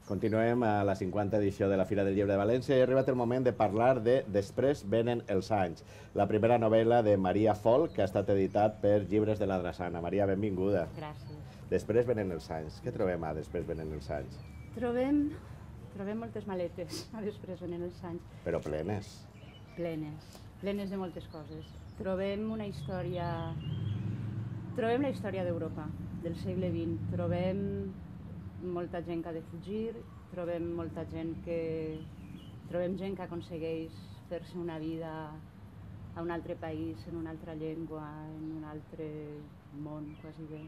Continuem a la 50 edició de la Fira del Llibre de València i ha arribat el moment de parlar de Després venen els anys, la primera novel·la de Maria Folch, que ha estat editat per Llibres de la Drassana. Maria, benvinguda. Gràcies. Després venen els anys. Què trobem a Després venen els anys? Trobem moltes maletes a Després venen els anys. Però plenes. Plenes de moltes coses. Trobem una història... Trobem la història d'Europa, del segle XX. Trobem molta gent que ha de fugir, trobem gent que aconsegueix fer-se una vida a un altre país, en una altra llengua, en un altre món, quasi bé.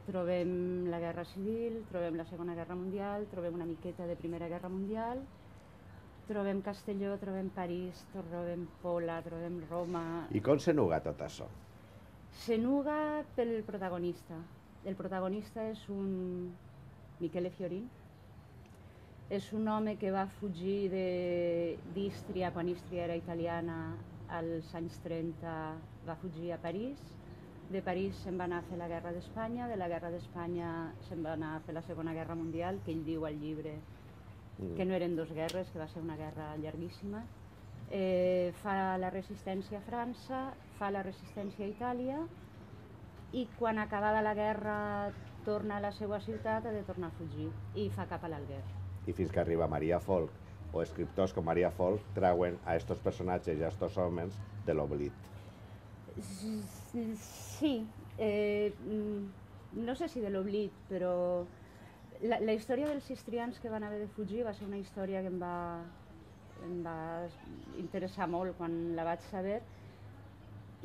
Trobem la Guerra Civil, trobem la Segona Guerra Mundial, trobem una miqueta de Primera Guerra Mundial, trobem Castelló, trobem París, trobem Pola, trobem Roma... I com se nuga tot això? Se nuga pel protagonista. El protagonista és un Michele Fiorin. És un home que va fugir d'Ístria, quan Ístria era italiana, als anys 30, va fugir a París. De París se'n va anar a fer la Guerra d'Espanya, de la Guerra d'Espanya se'n va anar a fer la Segona Guerra Mundial, que ell diu al llibre que no eren dues guerres, que va ser una guerra llarguíssima. Fa la resistència a França, fa la resistència a Itàlia, i quan acabada la guerra torna a la seva ciutat, ha de tornar a fugir i fa cap a l'Alguer. I fins que arriba Maria Folch, o escriptors com Maria Folch trauen a estos personatges i a estos homes de l'oblit. Sí, no sé si de l'oblit, però la història dels istrians que van haver de fugir va ser una història que em va interessar molt quan la vaig saber,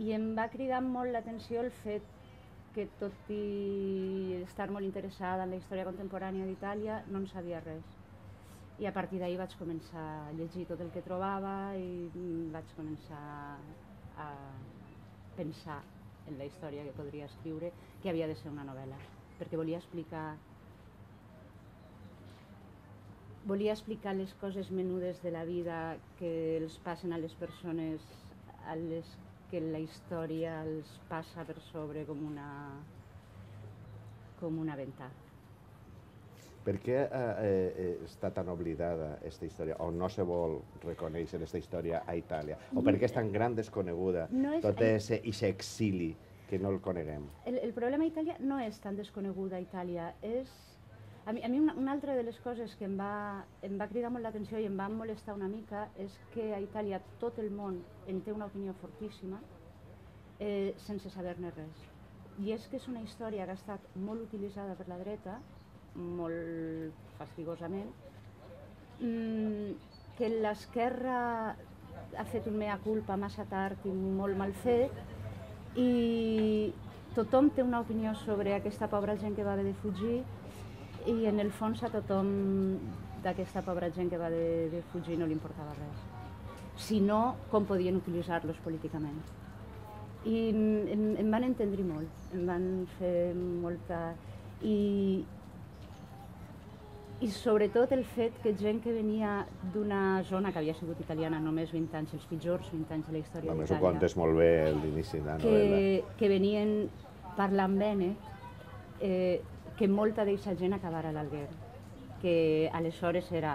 i em va cridar molt l'atenció el fet que, tot i estar molt interessada en la història contemporània d'Itàlia, no en sabia res. I a partir d'ahir vaig començar a llegir tot el que trobava i vaig començar a pensar en la història que podria escriure, que havia de ser una novel·la, perquè volia explicar les coses menudes de la vida que els passen a les persones a les que la història els passa per sobre com una ventà. Per què està tan oblidada aquesta història, o no se vol reconèixer aquesta història a Itàlia? O per què és tan gran desconeguda tot aquest exili que no el coneguem? El problema a Itàlia no és tan desconeguda a Itàlia, a mi una altra de les coses que em va cridar molt l'atenció i em va molestar una mica és que a Itàlia tot el món en té una opinió fortíssima sense saber-ne res. I és que és una història que ha estat molt utilitzada per la dreta, molt fastigosament, que l'esquerra ha fet un mea culpa massa tard i molt mal fet, i tothom té una opinió sobre aquesta pobra gent que va haver de fugir, i en el fons a tothom d'aquesta pobra gent que va haver de fugir no li importava res, sinó com podien utilitzar-los políticament. I em van entendre molt, em van fer molta... I sobretot el fet que gent que venia d'una zona que havia sigut italiana només 20 anys, els pitjors 20 anys de la història d'Itàlia... Només ho contes molt bé a l'inici de la novel·la. Que venien parlant bene, que molta d'aquesta gent acabara a l'Alguer, que aleshores era...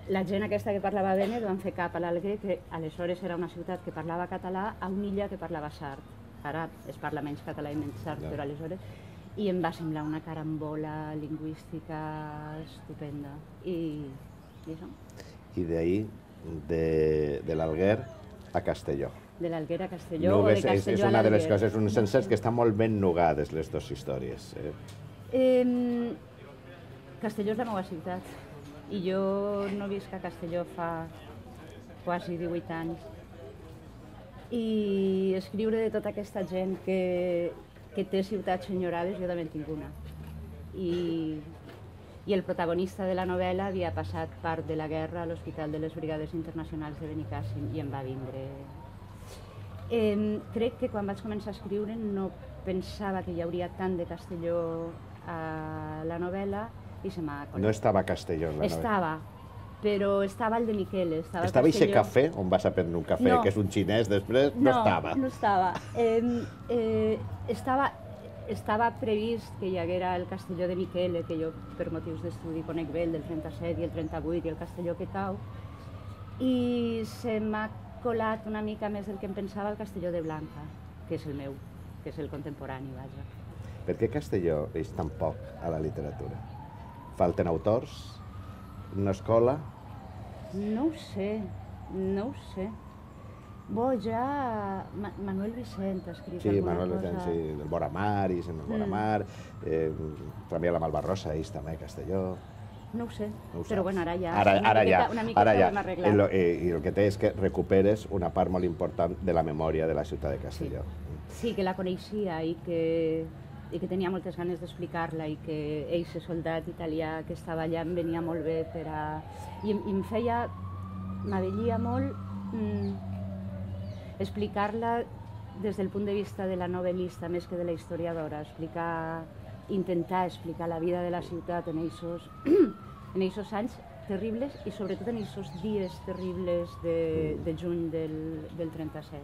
La gent aquesta que parlava bene van fer cap a l'Alguer, que aleshores era una ciutat que parlava català, a una illa que parlava sard. Ara es parla menys català i menys sard, però aleshores... I em va semblar una carambola lingüística estupenda. I això. I d'ahir, de l'Alguer a Castelló. De l'Alguer a Castelló o de Castelló a l'Alguer. És una de les coses, uns sencers que estan molt ben nugades, les dues històries. Castelló és la meva ciutat i jo no visc a Castelló fa quasi 18 anys. I escriure de tota aquesta gent que té ciutats enyorades, jo també en tinc una. I el protagonista de la novel·la havia passat part de la guerra a l'Hospital de les Brigades Internacionals de Benicàssim i em va vindre. Crec que quan vaig començar a escriure no pensava que hi hauria tant de Castelló a la novel·la i se m'ha colat. No estava Castelló en la novel·la? Estava, però estava el de Michele. Estava aquest cafè on vas a prendre un cafè, que és un xinès després? No estava. No estava. Estava estava previst que hi haguera el Castelló de Miquele, que jo per motius d'estudi conec bé, el del 37 i el 38 i el Castelló que cau, i se m'ha colat una mica més del que em pensava el Castelló de Blanca, que és el meu, que és el contemporani, vaja. Per què Castelló és tan poc a la literatura? Falten autors? No es cola? No ho sé, no ho sé. Bo, ja Manuel Vicent ha escrit alguna cosa. Sí, Manuel Vicent, sí, del Boramar, i el Boramar, també la Malvarrosa, ells també, Castelló. No ho sé, però bueno, ara ja una miqueta l'hem arreglat. I el que té és que recuperes una part molt important de la memòria de la ciutat de Castelló. Sí, que la coneixia i que tenia moltes ganes d'explicar-la i que eixe soldat italià que estava allà em venia molt bé per a... I em feia... m'avellia molt explicar-la des del punt de vista de la novel·lista més que de la historiadora, intentar explicar la vida de la ciutat en aquests anys terribles i sobretot en aquests dies terribles de juny del 37.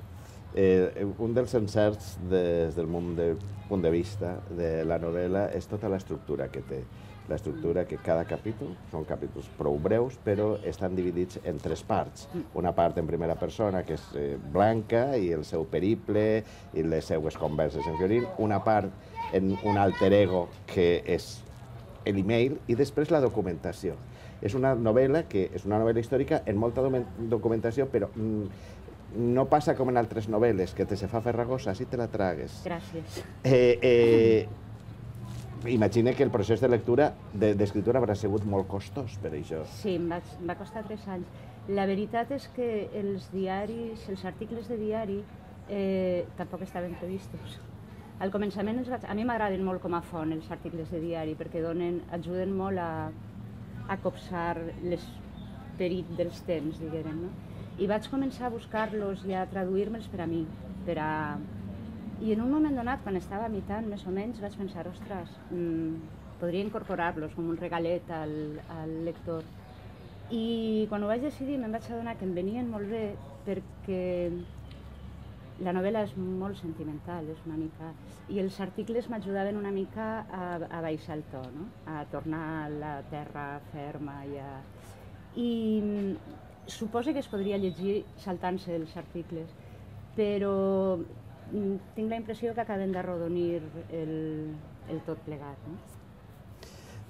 Un dels encerts des del punt de vista de la novel·la és tota l'estructura que té. L'estructura que cada capítol, són capítols prou breus, però estan dividits en 3 parts. Una part en primera persona, que és Blanca, i el seu periple, i les seues converses en Fiorín. Una part en un alter ego, que és l'email, i després la documentació. És una novel·la que és una novel·la històrica en molta documentació, però no passa com en altres novel·les, que te se fa farragosa, si te la tragues. Gràcies. Imagina que el procés de lectura, d'escriptura, haurà sigut molt costós per això. Sí, em va costar 3 anys. La veritat és que els diaris, els articles de diari, tampoc estaven previstos. Al començament, a mi m'agraden molt com a font els articles de diari, perquè ajuden molt a copsar l'esperit dels temps, diguem, no? I vaig començar a buscar-los i a traduir-me'ls per a mi, I en un moment donat, quan estava imitant, més o menys, vaig pensar, ostres, podria incorporar-los com un regalet al lector. I quan ho vaig decidir me'n vaig adonar que em venien molt bé perquè la novel·la és molt sentimental, és una mica... I els articles m'ajudaven una mica a baixar el to, no? A tornar a la terra ferma i suposo que es podria llegir saltant-se els articles, però tinc la impressió que acaben d'arrodonir el tot plegat.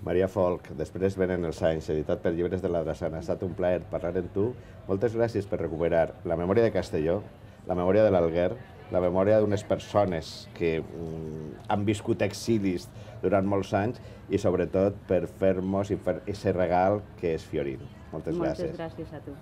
Maria Folch, després venen els anys, editat per Llibres de la Drassana. Ha estat un plaer parlar amb tu. Moltes gràcies per recuperar la memòria de Castelló, la memòria de l'Alguer, la memòria d'unes persones que han viscut exilis durant molts anys i sobretot per fer-nos i fer aquest regal que és Fiorín. Moltes gràcies. Moltes gràcies a tu.